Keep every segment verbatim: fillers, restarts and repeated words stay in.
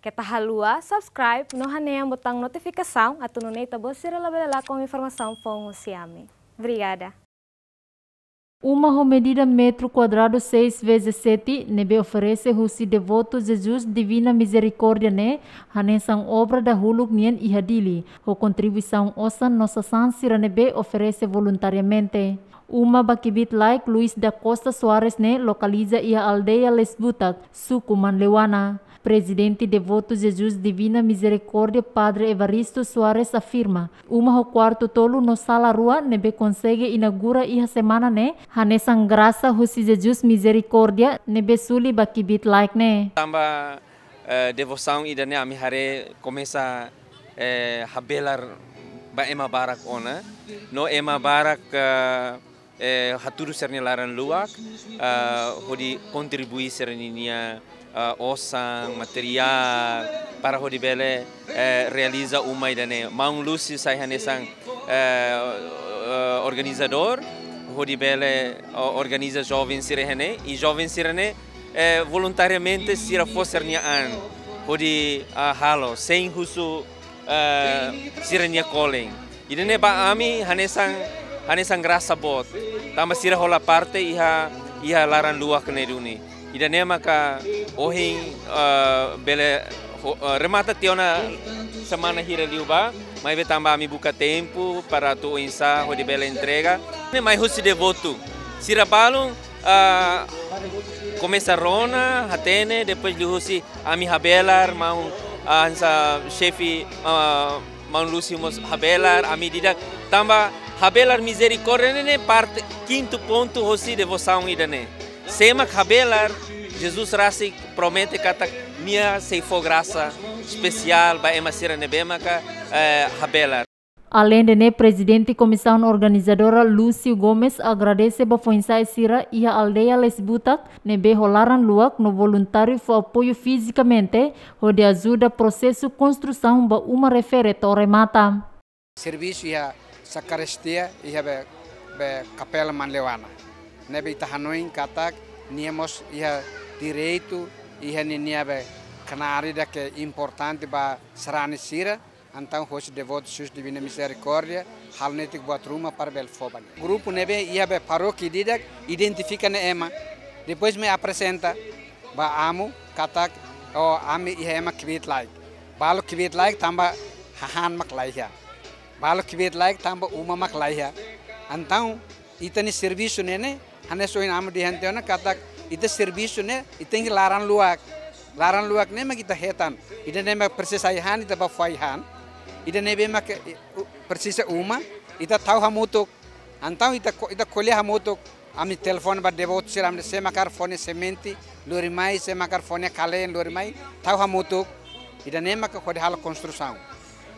Keta haluha subscribe no hanehan botaun notifikasaun atu nune'e ita-boot sira labele lakon informasaun foun husi ami. Obrigada. Uma ho medida metru kuadradu seis vezes sete ne'ebé oferese husi Devoto Jesus Divina Misericórdia ne'e hanesan obra dahuluk nian iha Dili, ho kontribuisaun osan no sasán sira ne'ebé oferese voluntariamente. Uma ba kbiit-laek Luis da Costa Soares ne'e lokaliza iha aldeia Lesbutak, suku Manleuana. Prezidente Devoto Jesus Divina Misericórdia, Padre Evaristo Soares afirma, uma ho kuartu tolu no sala rua ne'ebé konsege inaugura iha semana ne'e, hanesan grasa husi Jesus Misericórdia ne'ebé suli ba kbiit-laek ne'e. Tanba, eh, devosaun ida-ne'e ami haree komesa, eh, habelar ba ema barak ona. No ema barak, eh, eh, hatudu sira-nia laran-luak, eh, hodi kontribui sira-ninia, eh, osan, materiál, para hodi bele, eh, realiza uma ida-ne'e. Maun Lúcio sai hanesan, eh, eh, organizadór, hodi bele, o-, organiza joven sira iha ne'e, i joven sira-ne'e, eh, voluntariamente sira fó sira-nia an, hodi, ah, halo, sein husu, eh, sira-nia kolen. Ida-ne'e ba ami hanesan, hanesan grasa boot. Tanba sira hola parte iha, iha laran-luak ne'e duni. Ida-ne'e maka ohin, eh, bele ho-, eh, remata tiha ona semana hira liubá, maibé tanba ami buka tempu para atu oinsá hodi bele entrega. Ne'e mai husi Devoto. Sira balun, ah, komesa rona, hatene, depois liuhusi ami habelar, maun, ah, hanesan xefe, ah, maun Lúcio mós habelar, ami di'ak, tanba habelar Misericórdia ne'e, ne'e parte, kintu pontu hosi devosaun ida-ne'e. Sé mak habelar, Jesus rasik promete katak nia sei fó grasa espesiál ba ema sira ne'ebé maka, eh, habelar. Aleinde ne'e, Prezidente Komisaun Organizadora Lúcio Gomes agradese ba foin-sa'e sira iha aldeia Lesbutak ne'ebé ho laran-luak no voluntáriu fó apoiu fizikamente hodi ajuda prosesu konstrusaun ba uma refere to'o remata. Servisu iha sakristia iha be, be kapela Manleuana. Ne'ebé ita hanoin katak nia mós iha direitu, iha ninia be knaar ida ke importante ba sarani sira, entaun hosi Devoto Jesus Divina Misericórdia halo netik buat ruma para bele fó ba nia. Grupu ne'ebé iha be parókia ida-idak identifika nia ema. Depois mai aprezenta ba amu katak, o, ami iha ema kbiit-laek. Balu kbiit-laek tanba hahán mak laiha. Balu kbiit-laek tanba uma mak laiha. Entaun, ita-nia servisu ne'e ne'e, hanesan ohin amu dehan tiha ona katak ita servisu ne'e, ita tenke laran-luak. Laran-luak ne'e mak ita hetan. Ida-ne'e mak presiza ai-han, ita bá fó ai-han. Ida ne'ebé mak, eh, u-, presiza uma, ita tau hamutuk. Entaun ita ko-, ita ko'alia hamutuk. Ami telefone ba Devoto sira, ami dehan sé mak hakarak fó nia semente, lori mai, sé mak hakarak fó nia kaleen, lori mai, tau hamutuk. Ida-ne'e mak hodi halo konstrusaun.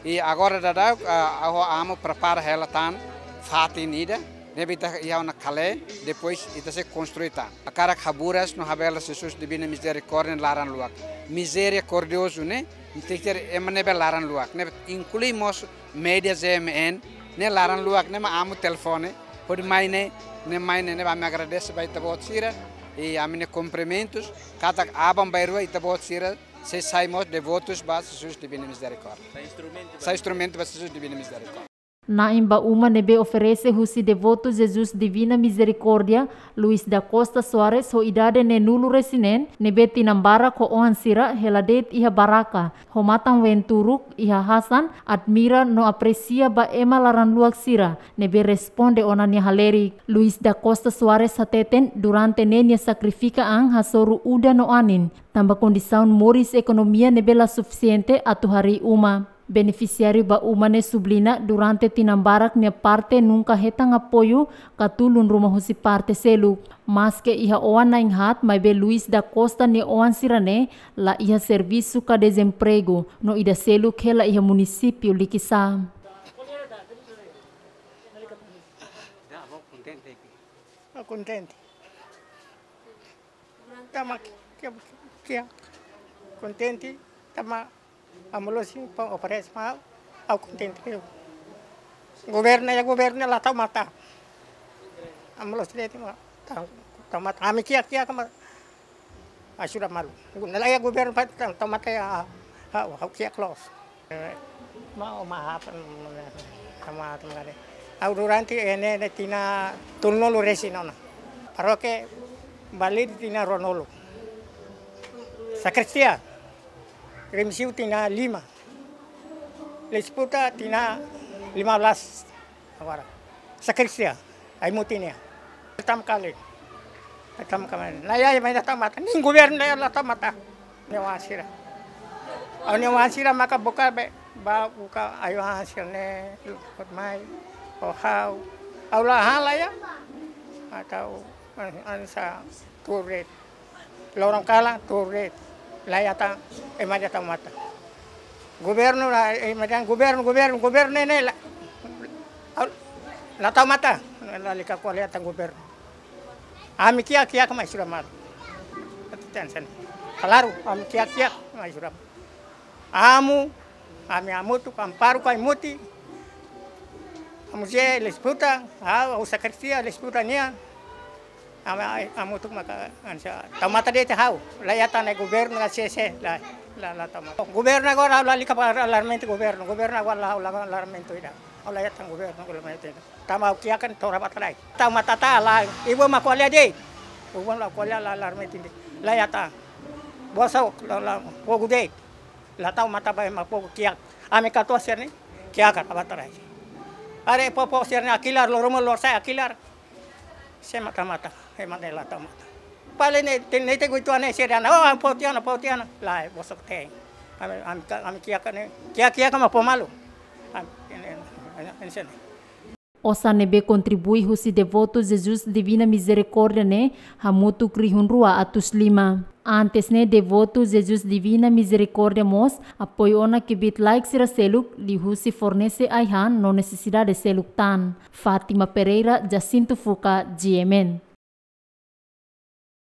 I agora daudaun, ah, ha'u ho amu prepara hela tan fatin ida, ne'ebé ita iha ona kaleen, depois ita sei konstrui tan. Hakarak haburas no habelar Jesus Divina Misericórdia laran-luak. Mizerikordiozu ne'e, tenke ser ema ne'ebé laran-luak. Ne'e inklui mós média G M N, ne'e laran-luak, ne'e mak amu telefone, hodi mai ne'e, ne'e mai ne'e, ne'ebé ami agradese ba ita-boot sira, i ami-nia kumprimentus, katak aban-bainrua ita-boot sira, sei sai mós devotus ba Jesus Divina Misericórdia. Sai instrumentu ba, sai instrumentu ba Jesus Divina Misericórdia. Na'in ba uma ne'ebé oferese husi Devoto Jesus Divina Misericórdia, Luis da Costa Soares ho idade neenulu-resin-neen, ne'ebé tinan barak ho oan sira hela de'it iha barraka, ho matan-ween turuk iha hasan, admira no apresia ba ema laran-luak sira, ne'ebé responde ona nia halerik. Luis da Costa Soares hateten durante ne'e nia sakrifika an hasoru udan no anin, tanba kondisaun moris ekonomia ne'ebé la sufisiente atu harii uma. Benefisiáriu ba uma ne'e subliña durante tinan barak nia parte nunka hetan apoiu ka tulun ruma husi parte seluk. Maske iha oan na'in-haat, maibé Luis da Costa nia oan sira-ne'e la iha servisu ka dezempregu, no ida seluk hela iha munisípiu Likisá. Kontente. Tanba ke, ke, ke kontente, tanba amu loos sim pa oferese mai, ha'u kontente. Governu, iha governu la tau matan. Amu loos de'it mak tau, tau matan. Ami kiak, kiak mak ajuda malu. Ne'e la iha governu pa tau, tau matan iha Ha'u, ha'u kiak loos. Mau maaf, sama teman. Ha'u durante ne'e, ne'e tinan tolunulu-resin ona. Parókia Balide tinan ruanulu. Sakristia, Remexio tinan lima. Lesputa tinan lima belas. Agora, sakristia, ai-mutin nian. Pertama kali. Pertama kali. Laiha, laiha, mas la tau matan. Nein governu laiha, la tau matan. Ne'e oan sira. Ha'u-nia oan sira maka buka be, ba buka ai-oan sira ne'e, luput mai, o ha'u. Ha'u la han laiha. Atau, an, ansa tuur de'it. Loron kalan tuur de'it. Laiha tan, ema la tau matan. Governu la, ema dehan governu, governu, governu ne'e, ne'e la. Ha'u la tau matan. Lalika ko'alia tan governu. Ami kiak, kiak mai sura malu. Atu tensen. Klaru, ami kiak, kiak mai sura. Amu, ami hamutuk, Amparo ho ai-mutin. Amu je lesputa, ha'u, ha'u sakristia lesputa nian. Ami, ai, hamutuk maka ansa tau matan de'it ha'u. Laiha tan ne'e governu la sese, la, la, la tau matan. Governu agora lalika ba alarmentu governu. Governu agora la, la alarmentu ida. Ha'u laiha tan governu, governu mai tenke. Tanba ha'u kiak kan tora ba trai. Tau matan ta la, ibu mak ko'alia de'it. Ibu mak ko'alia la alarmentu de'it. Laiha tan. Bosok la, la, fogu de'it. La tau matan ba ema fogu kiak. Ami katuas sira-ne'e, kiak kan ba trai. Haree povu sira-ne'e hakilar, loron malu loron sa'e hakilar. Sé mak tau matan, ema ne'e la tau matan. Paling ne'e, te, ne'e te guitu ane sira dehan, oh, fó tiha ona, fó tiha ona. Lae, bosok tein. Ami, ami, ami kiak ne'e, kiak, kiak mak fó malu. Ami, ne'e, ne'e, ne'e, ne'e, ne'e. Osan ne'ebé kontribui husi devotu Jesus Divina Misericórdia ne'e hamutuk rihun rua atus lima. Antes ne'e devotu Jesus Divina Misericórdia mós apoiu ona kbiit-laek sira seluk liuhusi fornese ai-han no nesesidade seluk tan. Fátima Pereira, Jacinto Fuca, G M N.